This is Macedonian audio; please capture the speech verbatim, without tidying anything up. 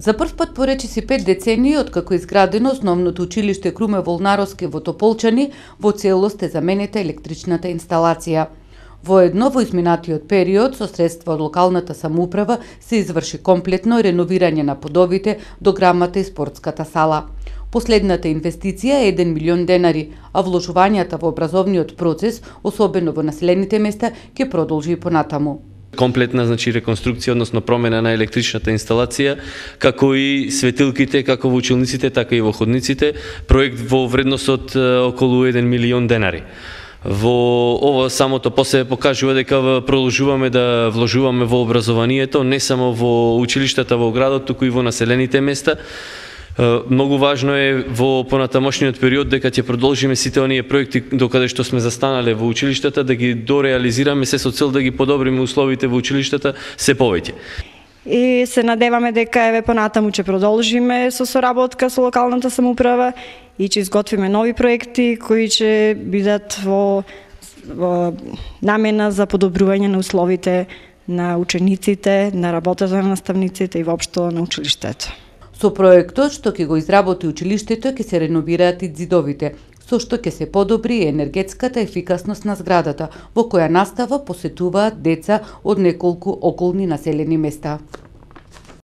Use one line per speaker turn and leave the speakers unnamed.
За прв пат по речиси пет децении откако изградено основното училиште Круме Волнаровски во Тополчани, во целост е заменета електричната инсталација. Воедно во изминатиот период со средства од локалната самоуправа се изврши комплетно реновирање на подовите, дограмата и спортската сала. Последната инвестиција е еден милион денари, а вложувањата во образовниот процес, особено во населените места, ќе продолжи и понатаму.
Комплетна, значи, реконструкција, односно промена на електричната инсталација, како и светилките, како во училниците, така и во ходниците, проект во вредност од околу еден милион денари. Во ова самото после покажува дека продолжуваме да вложуваме во образованието, не само во училиштата во градот, туку и во населените места. Многу важно е во понатамошниот период дека ќе продолжиме сите оние проекти докаде што сме застанале во училиштата, да ги дореализираме се со цел да ги подобриме условите во училиштата се повеќе.
И се надеваме дека еве понатаму ќе продолжиме со соработка со локалната самоуправа и ќе изготвиме нови проекти кои ќе бидат во, во намена за подобрување на условите на учениците, на работата на наставниците и воопшто на училиштето.
Со проектот што ќе го изработи училиштето ќе се реновираат и ѕидовите, со што ќе се подобри енергетската ефикасност на зградата, во која настава посетуваат деца од неколку околни населени места.